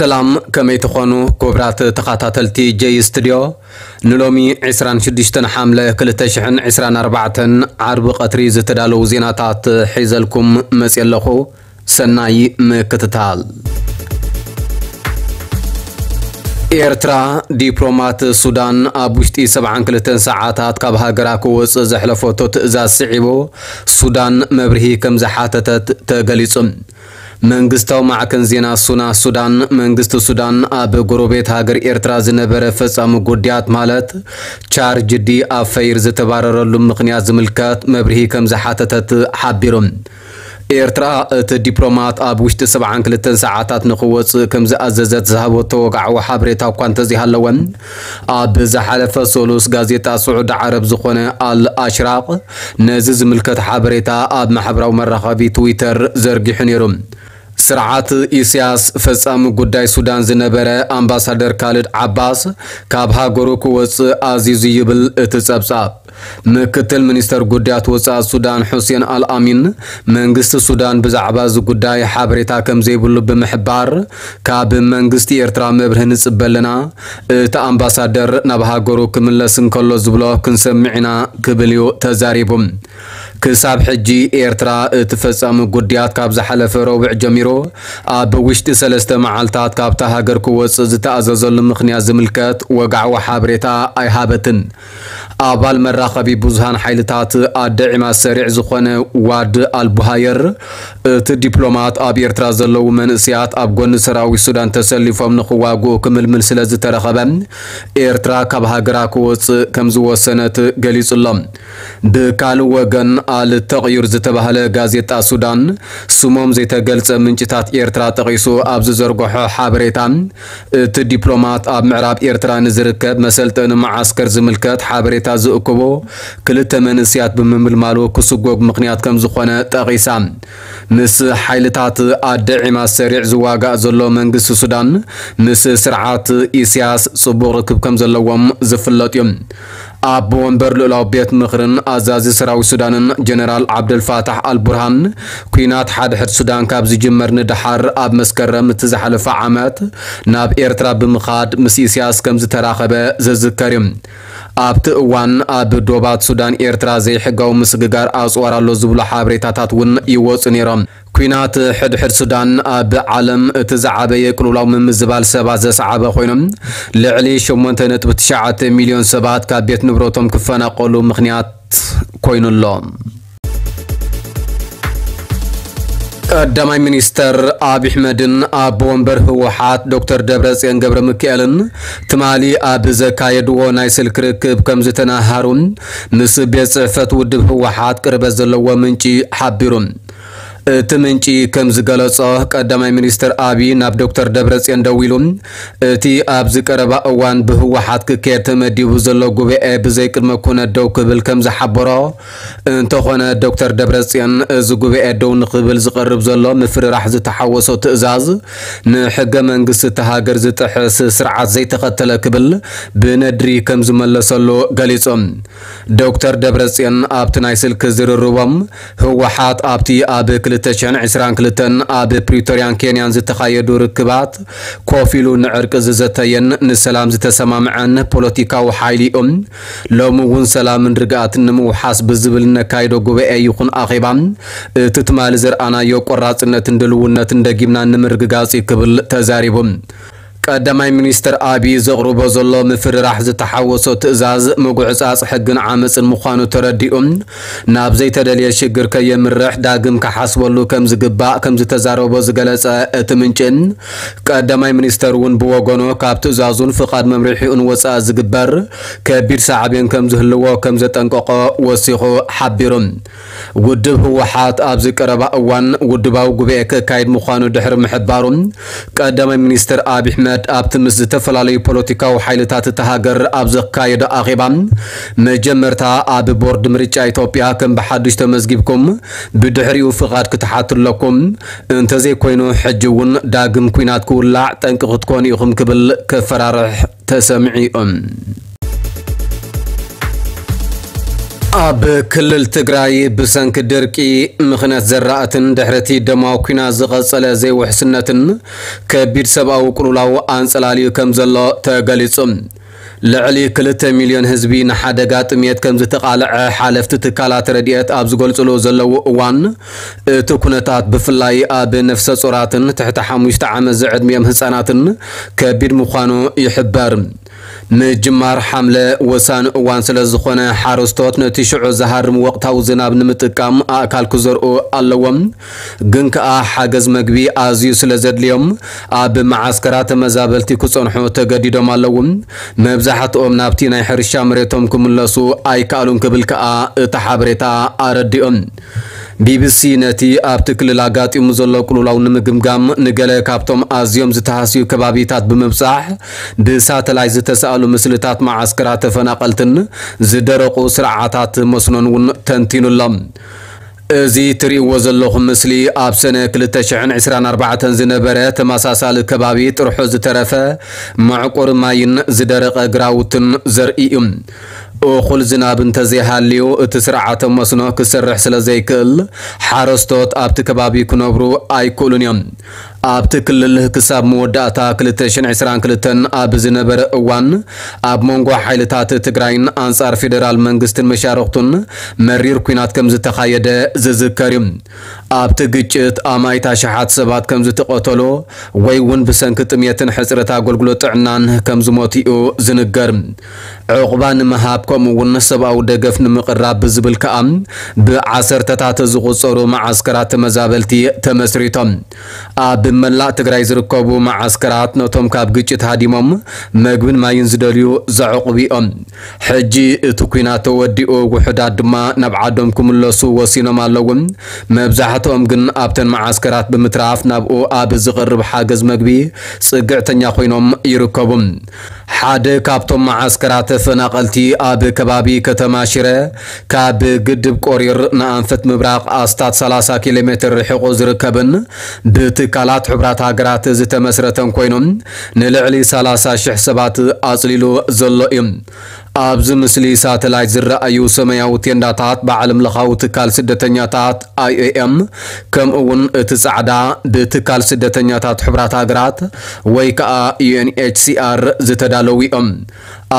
ሰላም፣ ከመይ ትኾኑ ክቡራት ተኸታተልቲ ጀይ ስቱድዮ? ንሎሚ ዕስራን ሽዱሽተን ሓምለ ክልተ ሽሕን ዕስራን ኣርባዕተን ዓርቢ ቀትሪ ዝተዳለዉ ዜናታት ሒዘልኩም መፅየ ኣለኹ። ሰናይ ምክትታል። ኤርትራ፣ ዲፕሎማት ሱዳን ኣብ ውሽጢ ሰብዓን ክልተን ሰዓታት ካብ ሃገራ ክወጽእ ዘሕለፈቶ ትእዛዝ ስዒቡ፣ ሱዳን መብርሂ ከም ዝሓተተት ተገሊጹ። መንግስታዊ ማዕከን ዜና ሱና ሱዳን፣ መንግስቲ ሱዳን ኣብ ጎረቤት ሃገር ኤርትራ ዝነበረ ፈጻሚ ጉዳያት ማለት ቻርጅ ዲ ኣፈይር ዝተባረረሉ ምኽንያት ዝምልከት መብርሂ ከም ዝሓተተት ሓቢሩ። ኤርትራ፣ እቲ ዲፕሎማት ኣብ ውሽጢ ሰብዓን ክልተን ሰዓታት ንኽወጽእ ከም ዝኣዘዘት ዝሃበቶ ወግዓዊ ሓበሬታ እኳ እንተዘይሃለወ፣ ኣብ ዝሓለፈ ሰሉስ ጋዜጣ ስዑዲ ዓረብ ዝኾነ ኣል ኣሽራቕ ነዚ ዝምልከት ሓበሬታ ኣብ ማሕበራዊ መራኸቢ ትዊተር ዘርጊሑ ነይሩ። ስርዓት ኢሳያስ ፈጻሚ ጉዳይ ሱዳን ዝነበረ ኣምባሳደር ካልድ ዓባስ ካብ ሃገሩ ክወጽእ ኣዚዙ ይብል እቲ ጸብጻብ። ምክትል ሚኒስተር ጉዳያት ወጻኢ ሱዳን ሑሴን ኣልኣሚን፣ መንግስቲ ሱዳን ብዛዕባ እዚ ጉዳይ ሓበሬታ ከም ዘይብሉ ብምሕባር፣ ካብ መንግስቲ ኤርትራ መብርሂ ንጽበ ኣለና፣ እቲ ኣምባሳደር ናብ ሃገሩ ክምለስ እንከሎ ዝብሎ ክንሰምዕ ኢና ክብል እዩ ተዛሪቡ። ክሳብ ሕጂ ኤርትራ እቲ ፈጻሚ ጉዳያት ካብ ዝሓለፈ ረቡዕ ጀሚሩ ኣብ ውሽጢ ሰለስተ መዓልታት ካብታ ሃገር ክወጽእ ዝተኣዘዘሉ ምኽንያት ዝምልከት ወግዓዊ ሓበሬታ ኣይሃበትን። ኣባል መራኸቢ ብዙሃን ሓይልታት ኣደ ዒማድ ሰሪዕ ዝኾነ ዋድ ኣልቡሃየር፣ እቲ ዲፕሎማት ኣብ ኤርትራ ዘለዉ መንእሰያት ኣብ ጎኒ ሰራዊት ሱዳን ተሰሊፎም ንኽዋግኡ ክምልምል ስለ ዝተረኸበ፣ ኤርትራ ካብ ሃገራ ክወጽእ ከም ዝወሰነት ገሊጹ ኣሎ። ብካልእ ወገን፣ ኣል ተቕዩር ዝተባህለ ጋዜጣ ሱዳን፣ ስሞም ዘይተገልጸ ምንጭታት ኤርትራ ጠቒሱ ኣብ ዝዘርግሖ ሓበሬታ፣ እቲ ዲፕሎማት ኣብ ምዕራብ ኤርትራ ንዝርከብ መሰልጠኒ መዓስከር ዝምልከት ሓበሬታ ዝእክቡ ክልተ መንእሰያት ብምምልማሉ ክስጎግ ምኽንያት ከም ዝኾነ ጠቒሳ። ምስ ሓይልታት ኣደ ዒማድ ሰሪዕ ዝዋጋእ ዘሎ መንግስቲ ሱዳን፣ ምስ ስርዓት ኢሳያስ ጽቡቕ ርክብ ከም ዘለዎም ዝፍለጥ እዩ። ኣቦ ወንበር ልኡላዊ ቤት ምኽርን ኣዛዚ ሰራዊት ሱዳንን ጀነራል ዓብደልፋታሕ ኣልቡርሃን፣ ኲናት ሓድሕድ ሱዳን ካብ ዝጅመር ንደሓር ኣብ መስከረም እቲ ዝሓለፈ ዓመት ናብ ኤርትራ ብምኻድ ምስ ኢሳያስ ከም ዝተራኸበ ዝዝከር እዩ። ኣብቲ እዋን ኣብ ዶባት ሱዳን ኤርትራ ዘይሕጋዊ ምስግጋር ኣጽዋር ኣሎ ዝብሉ ሓበሬታታት እውን ይወጹ ነይሮም። ኲናት ሕድሕድ ሱዳን ኣብ ዓለም እቲ ዝዓበየ ቅልውላው ምምዝባል ሰባት ዘስዓበ ኮይኖም፣ ልዕሊ ሸሞንተ ነጥቢ ትሽዓተ ሚልዮን ሰባት ካብ ቤት ንብረቶም ክፈናቀሉ ምኽንያት ኮይኑ ኣሎ። ቀዳማይ ሚኒስተር ኣብይ ኣሕመድን ኣቦ ወንበር ህወሓት ዶክተር ደብረጽዮን ገብረ ሚካኤልን ትማሊ ኣብ ዘካየድዎ ናይ ስልኪ ርክብ ከም ዝተነሃሩ ምስ ቤት ጽሕፈት ውድብ ህወሓት ቅርበት ዘለዎ ምንጪ ሓቢሩ። እቲ ምንጪ ከም ዝገለጾ፣ ቀዳማይ ሚኒስትር ኣብይ ናብ ዶክተር ደብረጽዮን ደዊሉ፣ እቲ ኣብዚ ቀረባ እዋን ብህወሓት ክካየድ ተመዲቡ ዘሎ ጉባኤ ብዘይቅድመ ኩነት ደው ክብል ከም ዝሓበሮ፣ እንተኾነ ዶክተር ደብረጽዮን እዚ ጉባኤ ደው ንኽብል ዝቐርብ ዘሎ ምፍርራሕ ዝተሓወሶ ትእዛዝ ንሕገ መንግስቲ እታ ሃገር ዝጥሕስ ስርዓት ዘይተኸተለ ክብል ብነድሪ ከም ዝመለሰሉ ገሊጹ። ዶክተር ደብረጽዮን ኣብቲ ናይ ስልኪ ዝርርቦም፣ ህወሓት ኣብቲ ኣብ ክልተ ሽሕን ዕስራን ክልተን ኣብ ፕሪቶርያን ኬንያን ዝተኻየዱ ርክባት ኮፍ ኢሉ ንዕርቂ ዝዘተየን ንሰላም ዝተሰማምዐን ፖለቲካዊ ሓይሊ እዩ። ሎሚ እውን ሰላምን ርግኣትን ንምውሓስ ብዝብል ነካይዶ ጉባኤ ይኹን ኣኼባ፣ እቲ ትማሊ ዘርኣናዮ ቆራጽነትን ድልውነትን ደጊምና ንምርግጋጽ እዩ ክብል ተዛሪቡ። ቀዳማይ ሚኒስትር ኣብይ ዘቕርቦ ዘሎ ምፍርራሕ ዝተሓወሶ ትእዛዝ ምጉዕጻጽ ሕግን ዓመጽን ምዃኑ ተረዲኡ፣ ናብ ዘይተደልየ ሽግር ከየምርሕ ዳግም ክሓስበሉ ከም ዝግባእ ከም ዝተዛረቦ ዝገለጸ እቲ ምንጪ፣ ቀዳማይ ሚኒስተር እውን ብወገኑ ካብ ትእዛዙን ፍቓድ መምርሒኡን ወጻኢ ዝግበር ከቢድ ሳዕቤን ከም ዝህልዎ ከም ዘጠንቀቖ ወሲኹ ሓቢሩ። ውድብ ህወሓት ኣብዚ ቀረባ እዋን ውድባዊ ጉባኤ ከካይድ ምዃኑ ድሕሪ ምሕባሩ፣ ቀዳማይ ሚኒስትር ኣብይ ኣሕመድ ኣብቲ ምስ ዝተፈላለዩ ፖለቲካዊ ሓይልታት እታ ሃገር ኣብ ዘካየዶ ኣኼባ፣ መጀመርታ ኣብ ቦርድ ምርጫ ኢትዮጵያ ከም ብሓዱሽ ተመዝጊብኩም፣ ብድሕሪኡ ፍቓድ ክትሓቱ ኣለኩም፣ እንተዘይኮይኑ ሕጂ እውን ዳግም ኲናት ክውላዕ ጠንቂ ክትኮኑ ኢኹም ክብል ከፈራርሕ ተሰሚዑ። ኣብ ክልል ትግራይ ብሰንኪ ድርቂ፣ ምኽነት ዘራእትን ድሕርቲ ደማዊ ኲናት ዝቐጸለ ዘይውሕስነትን ከቢድ ሰብኣዊ ቅልውላው ኣንጸላልዩ ከም ዘሎ ተገሊጹ። ልዕሊ ክልተ ሚልዮን ህዝቢ ንሓደጋ ጥሜት ከም ዝተቓልዐ ሓለፍቲ ትካላት ረድኤት ኣብ ዝገልጽሉ ዘለዉ እዋን፣ እቲ ኩነታት ብፍላይ ኣብ ነፍሰ ጾራትን ትሕቲ ሓሙሽተ ዓመት ዝዕድሚኦም ህጻናትን ከቢድ ምዃኑ ይሕበር። ምጅማር ሓምለ ወሳኒ እዋን ስለ ዝኾነ፣ ሓረስቶት ነቲ ሽዑ ዝሃርም ወቕታዊ ዝናብ ንምጥቃም ኣእካል ክዘርኡ ኣለዎም። ግን ከኣ ሓገዝ መግቢ ኣዝዩ ስለ ዘድልዮም፣ ኣብ መዓስከራት ተመዛበልቲ ክጸንሑ ተገዲዶም ኣለዉ። መብዛሕትኦም ናብቲ ናይ ሕርሻ መሬቶም ክምለሱ ኣይከኣሉን ክብል ከኣ እቲ ሓበሬታ ኣረዲኦም። ቢቢሲ ነቲ ኣብቲ ክልል ኣጋጢሙ ዘሎ ቅልውላው ንምግምጋም ንገለ ካብቶም ኣዝዮም ዝተሃስዩ ከባቢታት ብምብጻሕ ብሳተላይት ዝተሳእሉ ምስልታት መዓስከራት ተፈናቐልትን ዝደረቑ ስርዓታት መስኖን እውን ተንቲኑ ኣሎ። እዚ ትርእይዎ ዘለኹም ምስሊ ኣብ ሰነ ክልተ ሽሕን ዕስራን ኣርባዕተን ዝነበረ ተመሳሳሊ ከባቢ ጥርሑ ዝተረፈ መዕቆሪ ማይን ዝደረቐ ግራውትን ዘርኢ እዩ። እኹል ዝናብ እንተዘይሃልዩ፣ እቲ ስርዓተ መስኖ ክሰርሕ ስለ ዘይክእል፣ ሓረስቶት ኣብቲ ከባቢ ክነብሩ ኣይክእሉን እዮም። ኣብቲ ክልል ክሳብ መወዳእታ ክልተ ሽሕን ዕስራን ክልተን ኣብ ዝነበረ እዋን፣ ኣብ መንጎ ሓይልታት ትግራይን ኣንጻር ፌደራል መንግስትን መሻርኽቱን መሪር ኲናት ከም ዝተኻየደ ዝዝከር እዩ። ኣብቲ ግጭት ኣማኢት ኣሽሓት ሰባት ከም ዝተቐተሉ ወይ እውን ብሰንኪ ጥሜትን ሕጽረት ኣገልግሎት ጥዕናን ከም ዝሞቱ እዩ ዝንገር። ዕቑባ ንምሃብ ከምኡ እውን ሰብኣዊ ደገፍ ንምቕራብ ብዝብል ከኣ ብዓሰርተታት ዝቑጸሩ መዓስከራት ተመዛበልቲ ተመስሪቶም። ኣብ መላእ ትግራይ ዝርከቡ መዓስከራት ነቶም ካብ ግጭት ሃዲሞም መግብን ማይን ዝደልዩ ዘዕቑቡ እዮም። ሕጂ እቲ ኲናት ተወዲኡ፣ ውሑዳት ድማ ናብ ዓዶም ክምለሱ ወሲኖም ኣለዉ። መብዛሕትኦም ግን ኣብተን መዓስከራት ብምትራፍ ናብኡ ኣብ ዝቐርብ ሓገዝ መግቢ ጽግዕተኛ ኮይኖም ይርከቡ። ሓደ ካብቶም መዓስከራት ተፈናቐልቲ ኣብ ከባቢ ከተማ ሽረ ካብ ግድብ ቆሪር ንኣንፈት ምብራቕ ኣስታት ሰላሳ ኪሎ ሜትር ርሒቑ ዝርከብን ብትካላት ሕቡራት ሃገራት ዝተመስረተን ኮይኑ ንልዕሊ ሰላሳ ሽሕ ሰባት ኣጽሊሉ ዘሎ እዩ። ኣብዚ ምስሊ ሳተላይት ዝረኣዩ ሰማያዊ ቴንዳታት ብዓለም ለኻዊ ትካል ስደተኛታት ኣይ ኦ ኤም፣ ከምኡ እውን እቲ ጻዕዳ ብትካል ስደተኛታት ሕቡራት ሃገራት ወይ ከኣ ዩ ኤን ኤች ሲ ኣር ዝተዳለዉ እዮም።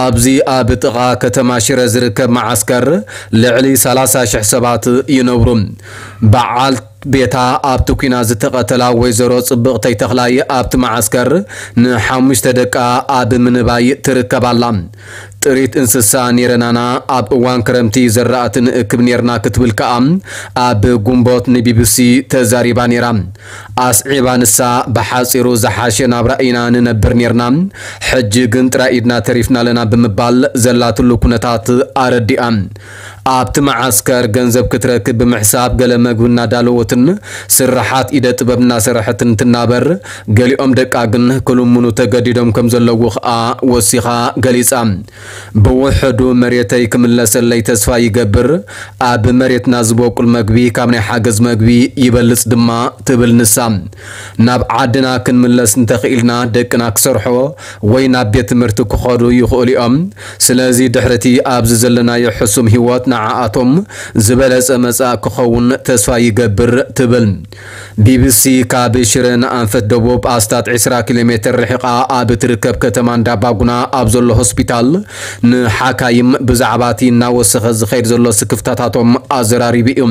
ኣብዚ ኣብ ጥቓ ከተማ ሽረ ዝርከብ መዓስከር ልዕሊ ሰላሳ ሽሕ ሰባት ይነብሩ። በዓል ቤታ ኣብቲ ኲናት ዝተቐተላ ወይዘሮ ጽብቕተይ ተኽላይ ኣብቲ መዓስከር ንሓሙሽተ ደቃ ኣብ ምንባይ ትርከብ ኣላ። ጥሪት እንስሳ ኔረናና፣ ኣብ እዋን ክረምቲ ዘራእቲ ንእክብ ኔርና ክትብል ከኣ ኣብ ጉንቦት ንቢቢሲ ተዛሪባ ኔራ። ኣስዒባ ንሳ፣ ብሓጺሩ ዝሓሸ ናብራ ኢና ንነብር ኔርና፣ ሕጂ ግን ጥራይ ኢድና ተሪፍና ኣለና ብምባል ዘላትሉ ኩነታት ኣረዲኣ። ኣብቲ መዓስከር ገንዘብ ክትረክብ ብምሕሳብ ገለ መግቢ እናዳለወትን ስርሓት ኢደ ጥበብ እናሰረሐትን ትናበር፣ ገሊኦም ደቃ ግን ክልምኑ ተገዲዶም ከም ዘለዉ ኸኣ ወሲኻ ገሊጻ። ብውሕዱ መሬተይ ክምለሰለይ ተስፋ ይገብር፣ ኣብ መሬትና ዝበቁል መግቢ ካብ ናይ ሓገዝ መግቢ ይበልጽ ድማ ትብል ንሳ። ናብ ዓድና ክንምለስ እንተኽኢልና ደቅና ክሰርሖ ወይ ናብ ቤት ትምህርቲ ክኸዱ ይኽእሉ እዮም። ስለዚ ድሕሪቲ ኣብዚ ዘለናዮ ሕሱም ህይወት ንዓኣቶም ዝበለጸ መጻኢ ክኸውን ተስፋ ይገብር ትብል። ቢቢሲ ካብ ሽረ ንኣንፈት ደቡብ ኣስታት ዕስራ ኪሎ ሜትር ርሒቓ ኣብ ትርከብ ከተማ እንዳባጉና ኣብ ዘሎ ሆስፒታል ንሓካይም ብዛዕባ እቲ እናወሰኸ ዝኸይድ ዘሎ ስክፍታታቶም ኣዘራሪቡ እዩ።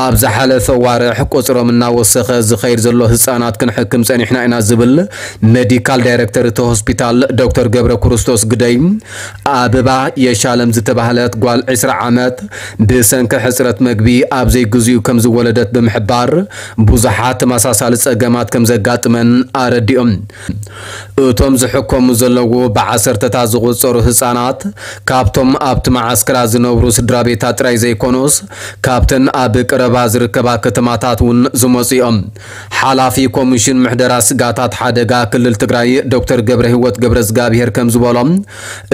ኣብ ዝሓለፈ ዋርሕ ቁጽሮም እናወሰኸ ዝኸይድ ዘሎ ህጻናት ክንሕክም ጸኒሕና ኢና ዝብል ሜዲካል ዳይሬክተር እቲ ሆስፒታል ዶክተር ገብረ ክርስቶስ ግደይ፣ ኣበባ የሻለም ዝተባህለት ጓል ዕስራ ዓመት ብሰንኪ ሕጽረት መግቢ ኣብ ዘይግዚኡ ከም ዝወለደት ብምሕባር፣ ብዙሓት ተመሳሳሊ ጸገማት ከም ዘጋጥመን ኣረዲኦም። እቶም ዝሕከሙ ዘለዉ ብዓሰርተታት ዝቑጸሩ ህጻናት ካብቶም ኣብቲ መዓስከራት ዝነብሩ ስድራ ቤታት ጥራይ ዘይኮኑስ፣ ካብተን ኣብ ቀረባ ዝርከባ ከተማታት እውን ዝመጹ እዮም። ሓላፊ ኮሚሽን ምሕደራ ስጋታት ሓደጋ ክልል ትግራይ ዶክተር ገብረ ህይወት ገብረ እግዚኣብሔር ከም ዝበሎም፣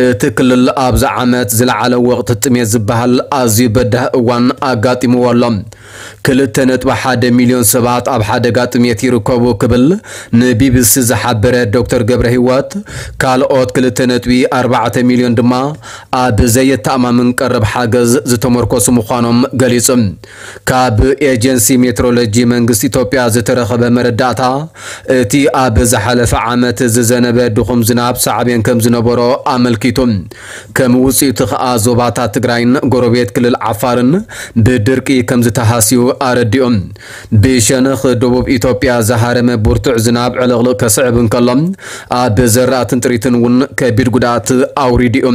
እቲ ክልል ኣብዚ ዓመት ዝለዓለ ወቕቲ ጥሜት ዝበሃል ኣዝዩ በዳህ እዋን ኣጋጢምዎ ኣሎ። ክልተ ነጥቢ ሓደ ሚልዮን ሰባት ኣብ ሓደጋ ጥሜት ይርከቡ ክብል ንቢቢሲ ዝሓበረ ዶክተር ገብረ ህይወት፣ ካልኦት ክልተ ነጥቢ ኣርባዕተ ሚልዮን ድማ ኣብ ዘየተኣማምን ቀረብ ሓገዝ ዝተመርኮሱ ምዃኖም ገሊጹ። ካብ ኤጀንሲ ሜትሮሎጂ መንግስቲ ኢትዮጵያ ዝተረኸበ መረዳእታ፣ እቲ ኣብ ዝሓለፈ ዓመት ዝዘነበ ድኹም ዝናብ ሳዕቤን ከም ዝነበሮ ኣመልኪቱ። ከም ውጽኢቱ ከኣ ዞባታት ትግራይን ጎረቤት ክልል ዓፋርን ብድርቂ ከም ዝተሃስዩ ኣረዲኦም። ብሸነኽ ደቡብ ኢትዮጵያ ዝሃረመ ብርቱዕ ዝናብ ዕልቕልቕ ከስዕብ እንከሎ፣ ኣብ ዘራእትን ጥሪትን እውን ከቢድ ጉድኣት ኣውሪዱ እዩ።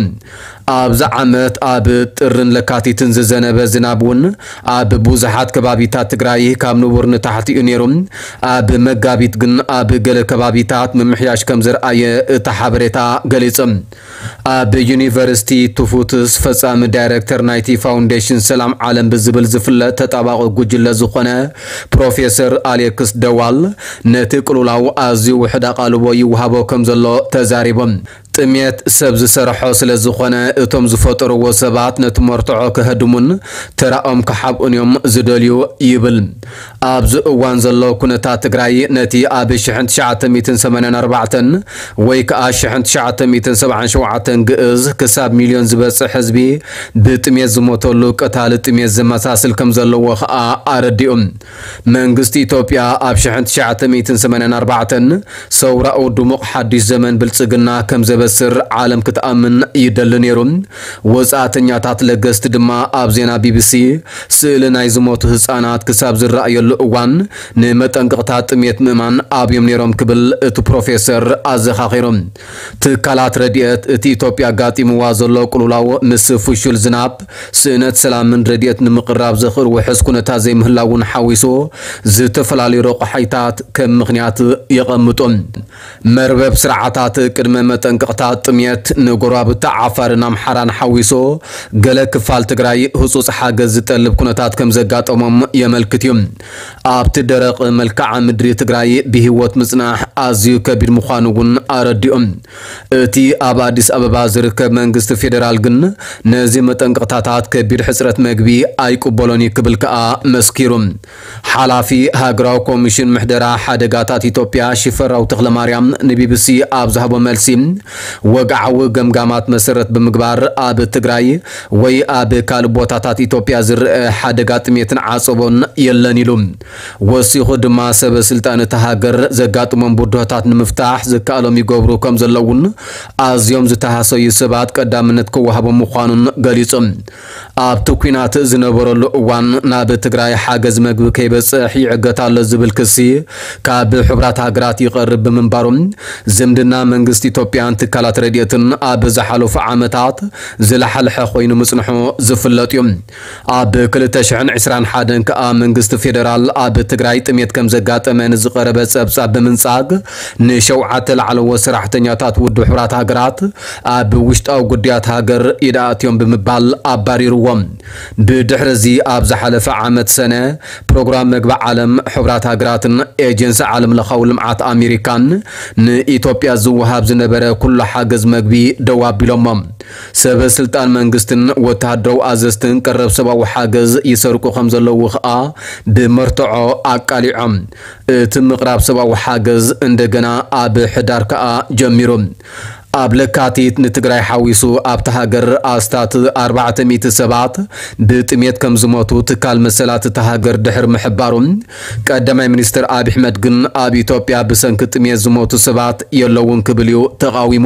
ኣብዚ ዓመት ኣብ ጥርን ለካቲትን ዝዘነበ ዝናብ እውን ኣብ ብዙሓት ከባቢታት ትግራይ ካብ ንቡር ንታሕቲ እዩ ነይሩ። ኣብ መጋቢት ግን ኣብ ገለ ከባቢታት ምምሕያሽ ከም ዘርኣየ እቲ ሓበሬታ ገሊጹ። ኣብ ዩኒቨርሲቲ ቱፉትስ ፈጻሚ ዳይረክተር ናይቲ ፋውንዴሽን ሰላም ዓለም ብዝብል ዝፍለጥ ተጣባቒ ጉጅለ ዝኾነ ፕሮፌሰር ኣሌክስ ደዋል፣ ነቲ ቅልውላው ኣዝዩ ውሑድ ኣቓልቦ ይወሃቦ ከም ዘሎ ተዛሪቦም። ጥሜት ሰብ ዝሰርሖ ስለ ዝኾነ፣ እቶም ዝፈጠርዎ ሰባት ነቲ መርትዖ ከህድሙን ተራኦም ክሓብኡን እዮም ዝደልዩ ይብል። ኣብዚ እዋን ዘሎ ኩነታት ትግራይ፣ ነቲ ኣብ ሽሕን ትሽዓተ ሚእትን ሰማንያን ኣርባዕተን ወይ ከኣ ሽሕን ትሽዓተ ሚእትን ሰብዓን ሸውዓተን ግእዝ ክሳብ ሚልዮን ዝበጽሕ ህዝቢ ብጥሜት ዝሞተሉ ቀታሊ ጥሜት ዘመሳስል ከም ዘለዎ ከኣ ኣረዲኡ። መንግስቲ ኢትዮጵያ ኣብ ሽሕን ትሽዓተ ሚእትን ሰማንያን ኣርባዕተን ሰውራኡ ድሙቕ ሓድሽ ዘመን ብልጽግና ከም ዘበስር ዓለም ክትኣምን ይደሊ ነይሩ። ወጻእተኛታት ለገስቲ ድማ ኣብ ዜና ቢቢሲ፣ ስእሊ ናይ ዝሞቱ ህጻናት ክሳብ ዝረኣየሉ እዋን፣ ንመጠንቀቕታ ጥሜት ምእማን ኣብዮም ነይሮም ክብል እቲ ፕሮፌሰር ኣዘኻኺሩ። ትካላት ረድኤት፣ እቲ ኢትዮጵያ ኣጋጢምዋ ዘሎ ቅልውላው ምስ ፍሹል ዝናብ፣ ስእነት ሰላምን ረድኤት ንምቕራብ ዘኽእል ውሑስ ኩነታት ዘይምህላውን ሓዊሱ፣ ዝተፈላለዩ ረቑሓይታት ከም ምኽንያት የቐምጡ። መርበብ ስርዓታት ቅድመ መጠንቀቕታ ጥሜት ንጎረባብቲ ዓፋርን ኣምሓራን ሓዊሱ፣ ገለ ክፋል ትግራይ ህጹጽ ሓገዝ ዝጠልብ ኩነታት ከም ዘጋጠሞም የመልክት እዩ። ኣብቲ ደረቕ መልክዓ ምድሪ ትግራይ ብህይወት ምጽናሕ ኣዝዩ ከቢድ ምዃኑ እውን ኣረዲኦም። እቲ ኣብ ኣዲስ ኣበባ ዝርከብ መንግስቲ ፌዴራል ግን ነዚ መጠንቀቕታታት ከቢድ ሕጽረት መግቢ ኣይቅበሎን እዩ ክብል ከኣ መስኪሩ። ሓላፊ ሃገራዊ ኮሚሽን ምሕደራ ሓደጋታት ኢትዮጵያ ሽፈራው ተኽለማርያም ንቢቢሲ ኣብ ዝሃቦ መልሲ፣ ወግዓዊ ገምጋማት መሰረት ብምግባር ኣብ ትግራይ ወይ ኣብ ካልእ ቦታታት ኢትዮጵያ ዝረአ ሓደጋ ጥሜትን ዓጸቦን የለን ኢሉ። ወሲኹ ድማ፣ ሰበ ስልጣን እታ ሃገር ዘጋጥሞም ብድሆታት ንምፍታሕ ዝከኣሎም ይገብሩ ከም ዘለውን ኣዝዮም ዝተሃሰዩ ሰባት ቀዳምነት ክወሃቦም ምዃኑን ገሊጹ። ኣብቲ ኲናት ዝነበረሉ እዋን ናብ ትግራይ ሓገዝ መግቢ ከይበጽሕ ይዕገት ኣሎ ዝብል ክሲ ካብ ሕቡራት ሃገራት ይቐርብ ብምንባሩ፣ ዝምድና መንግስቲ ኢትዮጵያን ትካላት ረድኤትን ኣብ ዝሓለፉ ዓመታት ዝለሓልሐ ኮይኑ ምጽንሑ ዝፍለጥ እዩ። ኣብ ክልተ ሽሕን ዕስራን ሓደን ከኣ መንግስቲ ፌደራል ኣብ ትግራይ ጥሜት ከም ዘጋጠመ ንዝቐረበ ጸብጻብ ብምንጻግ፣ ንሸውዓተ ላዕለዎት ሰራሕተኛታት ውድብ ሕቡራት ሃገራት ኣብ ውሽጣዊ ጉዳያት ሃገር ኢድ ኣእትዮም ብምባል ኣባሪርዎም። ብድሕሪ እዚ ኣብ ዝሓለፈ ዓመት ሰነ፣ ፕሮግራም መግቢ ዓለም፣ ሕቡራት ሃገራትን ኤጀንሲ ዓለም ለኻዊ ልምዓት ኣሜሪካን ንኢትዮጵያ ዝወሃብ ዝነበረ ኩሉ ሓገዝ መግቢ ደው ኣቢሎሞ። ሰበ ስልጣን መንግስትን ወተሃደራዊ ኣዘዝትን ቀረብ ሰብኣዊ ሓገዝ ይሰርቁ ከም ዘለዉ ኸኣ ብመርትዖ ኣቃሊዖም። እቲ ምቕራብ ሰብኣዊ ሓገዝ እንደገና ኣብ ሕዳር ከኣ ጀሚሩ። ኣብ ለካቲት ንትግራይ ሓዊሱ ኣብታ ሃገር ኣስታት ኣርባዕተ ሚእቲ ሰባት ብጥሜት ከም ዝሞቱ ትካል መሰላት እታ ሃገር ድሕሪ ምሕባሩ፣ ቀዳማይ ሚኒስትር ኣብይ ኣሕመድ ግን ኣብ ኢትዮጵያ ብሰንኪ ጥሜት ዝሞቱ ሰባት የለውን ክብል እዩ ተቓዊሙ።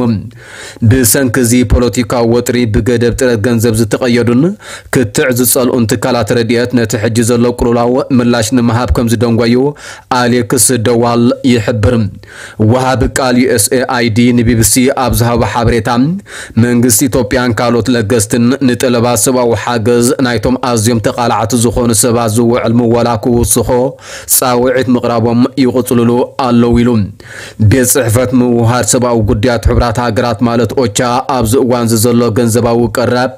ብሰንኪ እዚ ፖለቲካዊ ወጥሪ ብገደብ ጥረት ገንዘብ ዝተቐየዱን ክትዕ ዝጸልኡን ትካላት ረድኤት ነቲ ሕጂ ዘሎ ቅልውላው ምላሽ ንምሃብ ከም ዝደንጎዩ ኣሌክስ ደዋል ይሕብር። ወሃቢ ቃል ዩ ኤስ ኤ ኣይ ዲ ንቢቢሲ ኣብ ዝሃቦ ሓበሬታ፣ መንግስቲ ኢትዮጵያን ካልኦት ለገስትን ንጠለባት ሰብኣዊ ሓገዝ ናይቶም ኣዝዮም ተቓላዕቲ ዝኾኑ ሰባት ዝውዕል ምወላ ክውስኾ ጻውዒት ምቕራቦም ይቕጽልሉ ኣለዉ ኢሉ። ቤት ጽሕፈት ምውሃድ ሰብኣዊ ጉዳያት ሕቡራት ሃገራት ማለት ኦቻ ኣብዚ እዋን እዚ ዘሎ ገንዘባዊ ቀረብ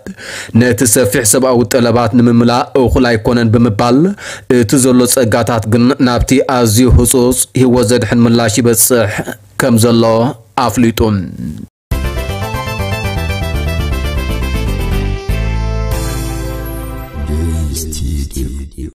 ነቲ ሰፊሕ ሰብኣዊ ጠለባት ንምምላእ እኹል ኣይኮነን ብምባል፣ እቲ ዘሎ ጸጋታት ግን ናብቲ ኣዝዩ ህጹጽ ህይወት ዘድሕን ምላሽ ይበጽሕ ከም ዘሎ ኣፍሊጡ።